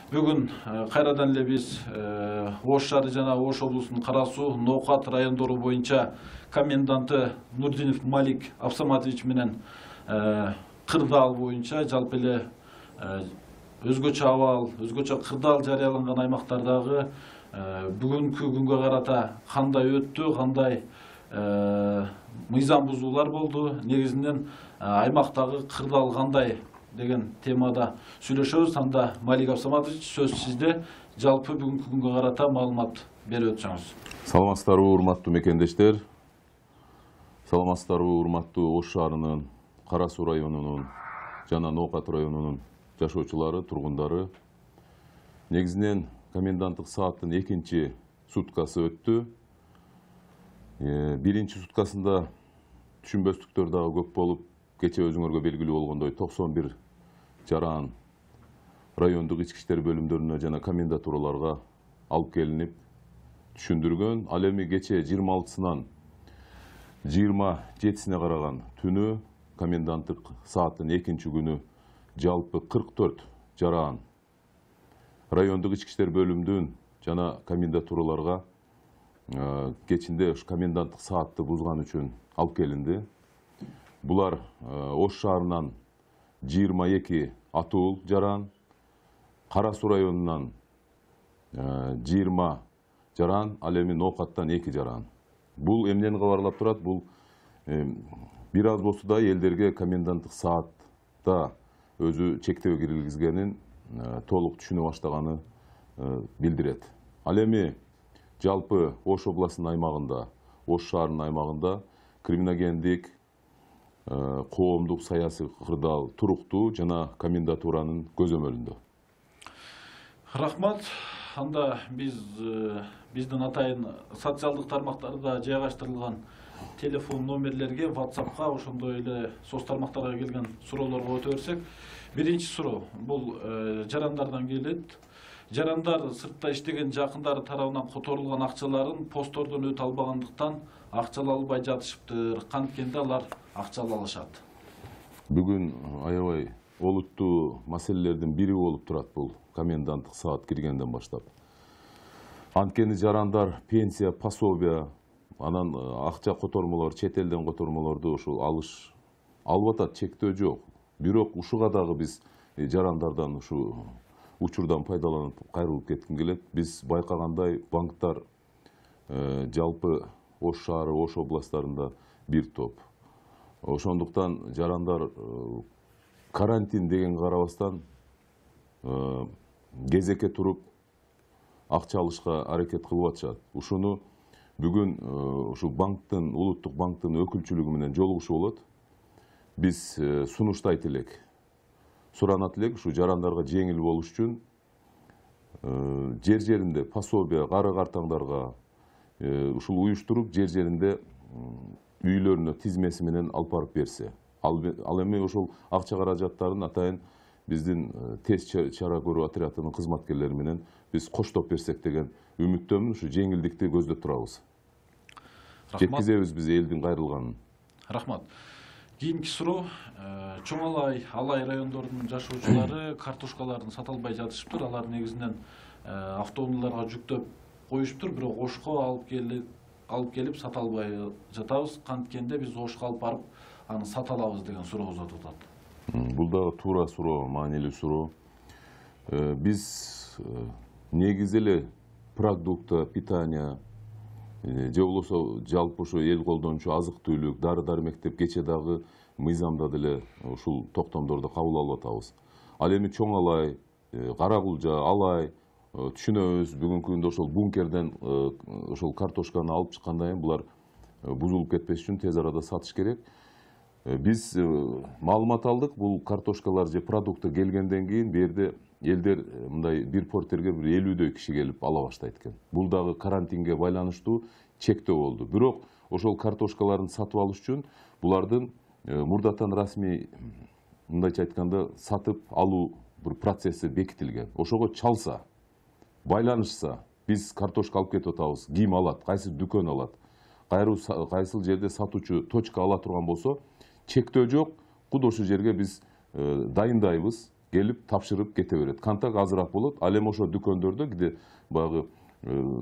Бүгүн кайрадан эле биз Ош шаары жана Ош облусунун Кара Суу, Ноокат райондору боюнча коменданты Нурдинов Малик Абсаматович менен кырдаал боюнча жалпы эле өзгөчө абал, өзгөчө кырдаал жарыяланган аймактардагы бүгүнкү күнгө карата кандай өттү, кандай мыйзам бузуулар болду, негизинен аймактагы кырдаал кандай деген темада сүйлөшөбүз. Анда Малик Абсаматович, сөз сизде. Жалпы бүгүнкү күнгө карата маалымат берип өтсөңүз. Саламатсыздарбы, урматтуу мекендештер. Саламатсыздарбы, урматтуу Ош шаарынын, Кара Суу районунун жана Ноокат районунун жашоочулары, тургундары. Негизинен коменданттык сааттын экинчи суткасы өттү. Биринчи суткасында түшүнбөстүктөр дагы көп болуп, кече өзүңөргө белгилүү болгондой 91 жаран райондук ички иштер бөлүмдөрүнө жана комендатураларга алып келинип түшүндүргөн. Ал эми кече 26-сынан 27-сине караган түнү коменданттык сааттын экинчи күнү жалпы 44 жаран райондук ички иштер бөлүмдүн жана комендатураларга кечинде коменданттык саатты бузган үчүн алып келинди. Булар Ош шаарынан 22 атуул жаран, Кара Суу районунан 20 жаран, ал эми Ноокаттан 2 жаран. Бул эмнени кабарлап турат? Бул бир аз болсо да элдерге коменданттык саатта өзү чектөө киргизгенин толук түшүнө баштаганы билдирет. Ал эми жалпы Ош областынын аймагында, Ош шаарынын аймагында криминогендик, коомдук саясий кырдаал туруктуу жана комендатуранын көзөмөлүндө. Рахмат. Анда биздин атайын социалдык тармактарда жайгаштырылган телефон номерлерге, WhatsApp'ка, ошондой эле соц тармактарга келген суроолорго өтө берсек. Биринчи суроо бул жарандардан келет. Жарандар сыртта иштеген жакындары тарабынан которулган акчаларын посттордон өтө албагандыктан акчалай албай жатышыптыр. Канткенде алар акчалай алышат. Бүгүн аябай олуттуу маселелердин бири болуп турат бул коменданттык саат киргенден баштап. Анткени жарандар пенсия, пособия, анан акча котормолор, чет элден котормолорду ушул алып атат, чектөө жок. Бирок ушуга дагы биз жарандардан ушу учурдан пайдаланып кайрылып кетким келет. Биз байкагандай банктар жалпы Ош шаары, Ош областарында бир топ. Ошондуктан жарандар карантин деген карабастан кезекке туруп акча алышка аракет кылып атышат. Ушуну бүгүн ушу банктын, улуттук банктын өкүлчүлүгү менен жолугушуу болот. Биз сунуштайт элек, суранат элек ушу жарандарга жеңил болуш үчүн жер-жеринде пособия, кары картаңдарга ушул уюштуруп, жер-жеринде үйлөрүнө тизмеси менен алып барып берсе. Ал эми ошол акча каражаттарын атайын биздин тез чара көрүү отрядынын кызматкерлери менен биз коштоп берсек деген үмүттөмүн. Ушу жеңилдикти көздөп турабыз. Жеткизебиз биз элдин кайрылганын. Рахмат. Кийинки суроо, чоң алай райондорунун жашоочулары картошкаларын сата албай жатышыптыр. Алар негизинен автоунааларга жүктөп коюшуптур, бирок Ошко алып келип сата албай жатабыз. Канткенде биз Ошко алып барып аны сата алабыз деген суроо uzatып атат. Бул дагы туура суроо, маанилүү суроо. Биз негизи эле продукта, питания же болбосо жалпы ушу эл колдончу азык-түлүк, дары-дармек деп кече дагы мыйзамда деле ушул токтомдорду кабыл алып атабыз. Ал эми чоң алай, кара кулжа, алай түшүнөбүз. Бүгүнкү күндө ошол бункерден ошол картошканы алып чыккандан кийин булар бузулуп кетпеш үчүн тез арада сатыш керек. Биз маалымат алдык, бул картошкалар же продукты келгенден кийин берде элдер мындай бир портерге бир 50дөй киши келип ала баштайт экен. Бул дагы карантинге байланыштуу чектөө болду. Бирок ошол картошкаларын сатып алыш үчүн булардын мурдатан расмий, мындайча айтканда, сатып алуу бир процесси бекитилген. Ошого чалса, байланышса, биз картошка алып кетип атабыз, ким алат, кайсы дүкөн алат, кайсыл жерде сатуучу точка ала турган болсо, чектөө жок, куд ошол жерге биз дайындайбыз. келип тапшырып кете берет. Контакт азыраак болот. Ал эми ошо дүкөндөрдө киде баягы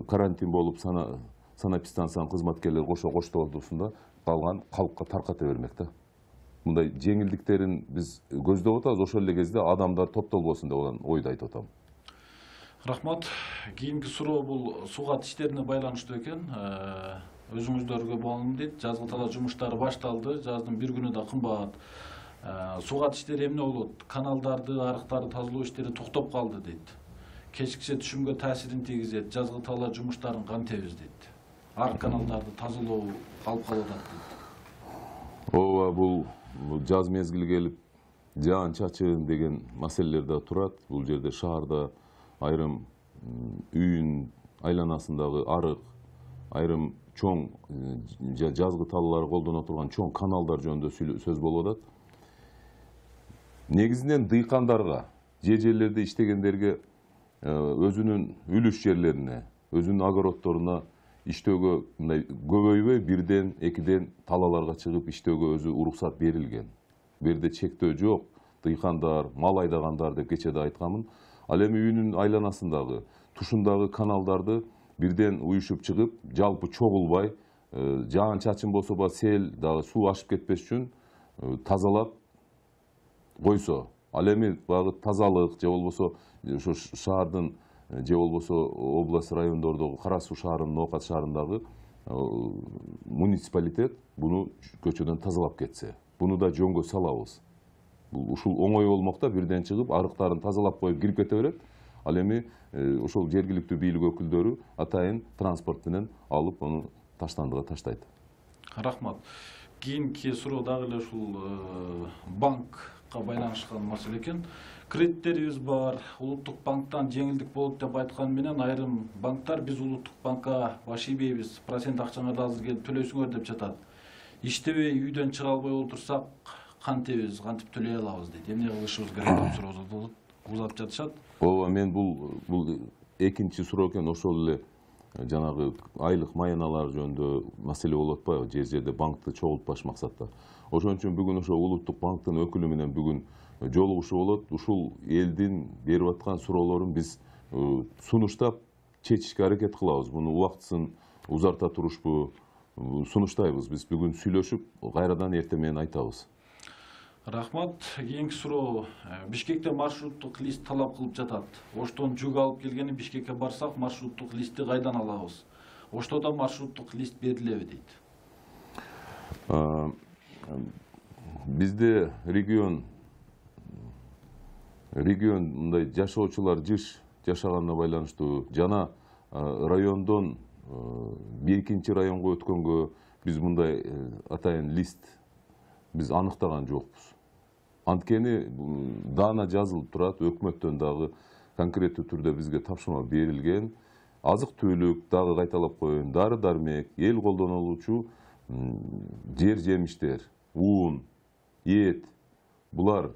карантин болуп санэпидстанциянын кызматкерлери коштоотусунда калган калкка тарката бермек да. Мындай жеңилдиктерин биз көздөп атабыз, ошол эле кезде адамдар топтолбосун деп ойду айтып атам. Рахмат. Кийинки суроо бул сугат иштерине байланыштуу экен. Өзүңүздөргө болгон дейт, жазгы талаа жумуштары башталды, жаздын бир күнү да кымбат. Сугат иштери эмне болот? Каналдарды, арыктарды тазалоо иштери токтоп калды дейт. Кечкиче түшүмгө таасирин тийгизет, жазгы талаа жумуштарын кантебиз дейт. Арык каналдарды тазалоо калып калып атат дейт. Ооба, бул жаз мезгили келип, жаан чачын деген маселелер да турат. Бул жерде шаарда айрым үйүн айланасындагы арык, айрым чоң жазгы талаалар колдоно турган чоң каналдар жөнүндө сөз болуп атат. Негизинен дыйкандарга, жерлерде иштегендерге өзүнүн үлүш жерлерине, өзүнүн огороддоруна иштөөгө мындай көбөйбөй бирден, экиден талааларга чыгып иштөөгө өзү уруксат берилген. Бу жерде чектөө жок. Дыйкандар, мал айдагандар деп кечеде айтканмын. Ал эми үйүнүн айланасындагы, тушундагы каналдарды бирден уюшуп чыгып, жалпы чогулбай, жаан чачын болсо ба сел дагы суу ашып кетпеш үчүн тазалап койсо. Ал эми багы тазалык же болбосо ошо шаардын же болбосо область райондордогу Кара Суу шаарынын, Ноокат шаарындагы муниципалитет буну көчөдөн тазалап кетсе, буну да жөнгө салабыз. Ушул оңой болмок да, бирден чыгып арыктарын тазалап коюп кирип кете берет. Ал эми ошол жергиликтүү бийлик өкүлдөрү атайын транспорт менен алып аны таштандыга таштайт. Рахмат. Кийинки суроо дагы эле ушул банкка байланышкан маселе экен. Кредиттерибиз бар, улуттук банктан жеңилдик болот деп айткан менен айрым банктар биз улуттук банкка баш ийбейбиз, процент акчаңарды азыр келип төлөйсүңөр деп жатат. Иштебей үйдөн чыга албай отурсак кантебиз, кантип төлөй алабыз дейт. Эмне кылышыбыз керек деп суроо узатып жатышат. Ооба, мен бул экинчи суроо экен, ошол эле жанагы айлык маяналар жөнүндө маселе болуп атпайбы, жерде банкты чогултпаш максатта. Ошон үчүн бүгүн ошо улуттук банктын өкүлү менен бүгүн жолугушуу болот. Ушул элдин берип аткан суроолорун биз сунуштап чечишке аракет кылабыз. Муну убактысын узарта турушпу сунуштайбыз. Биз бүгүн сүйлөшүп, кайрадан эртең менен айтабыз. Рахмат. Кийинки суроо. Бишкекте маршруттук лист талап кылып жатат. Оштон жүк алып келгени Бишкекке барсак, маршруттук листти кайдан алабыз? Оштодо маршруттук лист берилеби дейт. Бизде регион мындай жашоочулар жыш жашаганына байланыштуу жана райондон экинчи районго өткөнгө биз мындай атайын лист биз аныктаган жокпуз. Анткени даана жазылып турат, өкмөттөн дагы конкреттүү түрдө бизге тапшырма берилген. Азык-түлүк дагы кайталап коеюн, дары-дармек, эл колдонулуучу жер жемиштер, уун, эт, булар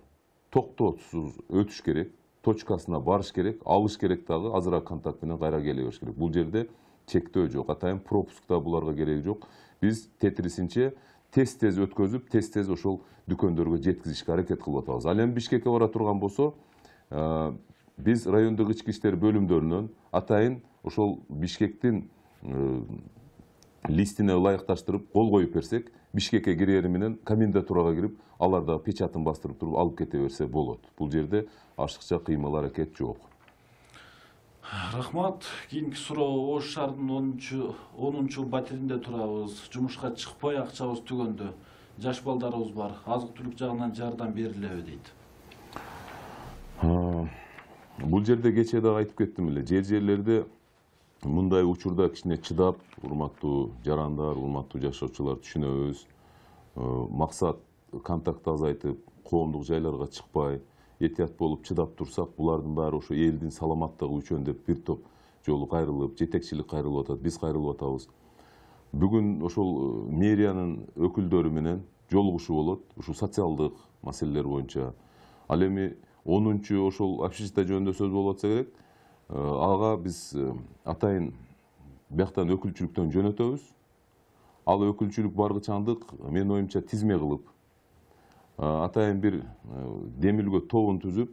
токтоосуз өтүш керек, точкасына барыш керек, алыш керек дагы, азыраак контакт менен кайра келе бериш керек. Бул жерде чектөө жок, атайын пропуск да буларга кереги жок. Биз тетрисинче тез өткөзүп, тез ошол дүкөндөргө жеткизишке аракет кылып атабыз. Ал эми Бишкекке бара турган болсо, биз райондук ички иштер бөлүмдөрүнөн атайын ошол Бишкектин листине ылайыкташтырып кол коюп берсек, Бишкекке кирери менен комендатурага кирип, алар да печатын бастырып туруп алып кете берсе болот. Бул жерде ашыкча кыймыл аракет жок. Рахмат. Кийинки суроо. Ош шаарынын 10-чу батиринде турабыз. Жумушка чыкпай акчабыз түгөндө. Жаш балдарыбыз бар. Азык-түлүк жагынан жардам берилеби дейт. Бул жерде кечээ дагы айтып кеттим эле. Жерлерде мындай учурда кичине чыдап, урматтуу жарандар, урматтуу жашоочулар түшүнөбүз. Максат контактты азайтып, коомдук жайларга чыкпай, этият болуп чыдап турсак, булардын баары ошо элдин саламаттыгы үчүн деп бир топ жолу кайрылып, жетекчилик кайрылып атат, биз кайрылып атабыз. Бүгүн ошол мэриянын өкүлдөрү менен жолугушуу болот, ушул социалдык маселелер боюнча. Ал эми 10-чу ошол общежитие жөнүндө сөз болуп атса керек, ага биз атайын бияктан өкүлчүлүктөн жөнөтөбүз. Ал өкүлчүлүк баргычандык менин оюмча тизме кылып, атайын бир демилгөө тобун түзүп,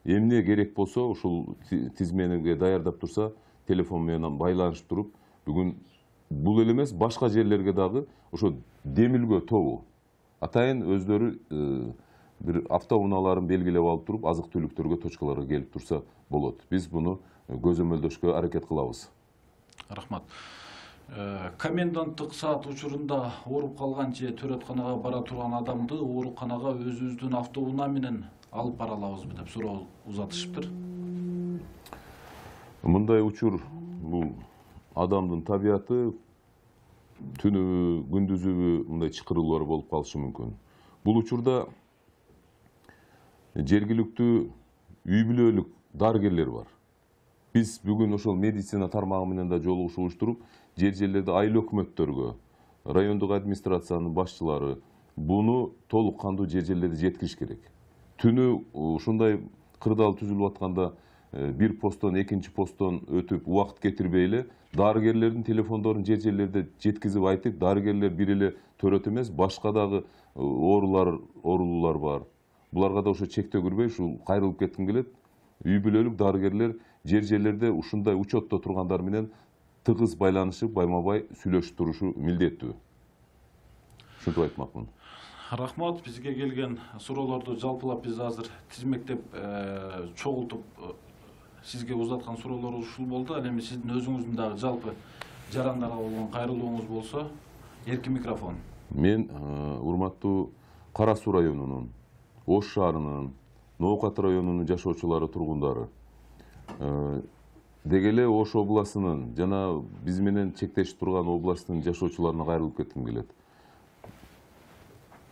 эмне керек болсо ушул тизмеге даярдап турса, телефон менен байланышып туруп, бүгүн бул эле эмес, башка жерлерге дагы ошо демилгөө тобу атайын өздөрү бир автоунааларын белгилеп алып туруп, азык түлүктөргө, точкаларга келип турса болот. Биз буну көзөмөлдөшкө аракет кылабыз. Рахмат. Коменданттык саат учурунда ооруп калган же төрөтканага бара турган адамды ооруканага өзүбүздүн автоунаа менен алып бара алабызбы деп суроо узатышыптыр. Мындай учур бул адамдын табияты, түнүбү, күндүзүбү мындай чакыруулар болуп калышы мүмкүн. Бул учурда жергиликтүү үй бүлөлүк дарыгерлер бар. Биз бүгүн ошол медицина тармагы менен да жолугушуп туруп, жерлерде айыл өкмөттөргө, райондук администрациянын башчылары буну толук кандуу жерлерде жеткириш керек. Түнү ушундай кырдаал түзүлүп атканда бир посттон экинчи посттон өтүп убакыт кетирбей эле дарыгерлердин телефондорун жерлерде жеткизип айтып, дарыгерлер бир эле төрөт эмес, башка дагы оорулуулар бар. Буларга да ошо чектөө кирбей, ушул кайрылып кетким келет. Үй бүлөлүк дарыгерлер жерлерде ушундай учетто тургандар менен тыгыз байланышып, байма-бай сүйлөшүп турушу милдеттүү. Ушинтип айтмакмын. Рахмат, бизге келген суроолорду жалпылап биз азыр тизмектеп чогултуп сизге узаткан суроолор ушул болду. Ал эми сиздин өзүңүздүн дагы жалпы жарандарга болгон кайрылууңуз болсо, эркин микрофон. Мен урматтуу Кара Суу районунун, Ош шаарынын, Ноокат районунун жашоочулары, тургундары, деги эле Ош областынын жана биз менен чектешип турган областтын жашоочуларына кайрылып кетким келет.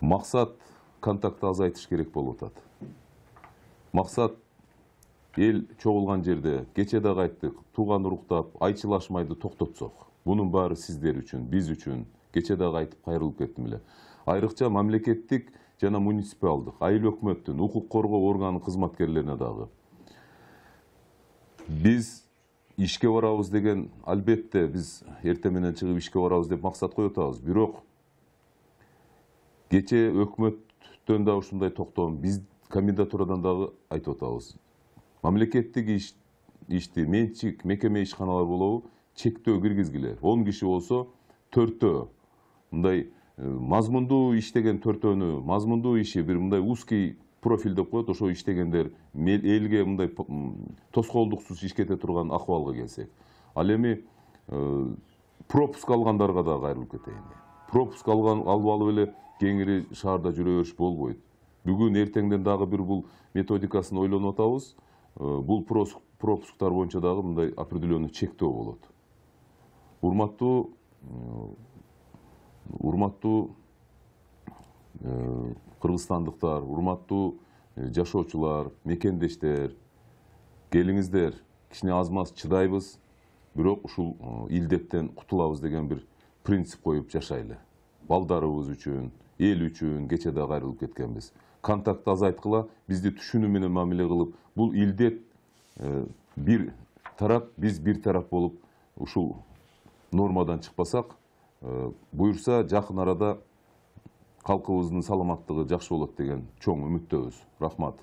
Максат контактты азайтыш керек болуп атат. Максат эл чогулган жерде кече дагы айттык, тууган уруктап, айчылашмайды токтотсок. Бунун баары сиздер үчүн, биз үчүн. Кече дагы айтып кайрылып кеттим эле. Айрыкча мамлекеттик жана муниципалдык, айыл өкмөттүн, укук коргоо органынын кызматкерлерине дагы. Биз ишке барабыз деген, албетте биз эртең менен чыгып ишке барабыз деп максат коюп атабыз. Бирок кече өкмөттөн да ушундай токтом, биз комендатурадан дагы айтып атабыз. Мамлекеттик ишти, менчик, мекеме ишканалар болобу, чектөө киргизгиле. 10 киши болсо 4төө. Мындай мазмундуу иштеген 4төөнү, мазмундуу иши бир мындай узкий профиль деп коет, ошо иштегендер элге мындай тоскоолдуксуз ишкете турган акыбалга келсек. Ал эми пропуск алгандарга да кайрылып кетейин. Пропуск алып алып эле кеңири шаарда жүрө бериш болбойт. Бүгүн эртеңден дагы бир бул методикасын ойлонуп атабыз. Бул пропусктар боюнча дагы мындай определенный чектөө болот. Урматтуу кыргызстандыктар, урматтуу жашоочулар, мекендештер, келиңиздер, кичине аз-маз чыдайбыз, бирок ушул илдеттен кутулабыз деген бир принцип коюп жашайлы. Балдарыбыз үчүн, эл үчүн кече да кайрылып кеткенбиз. Контактты азайткыла, бизди түшүнүү менен мамиле кылып, бул илдет бир тарап, биз бир тарап болуп, ушул нормадан чыкпасак, буюрса жакын арада калкыбыздын саламаттыгы жакшы болот деген чоң үмүттөбүз. Рахмат.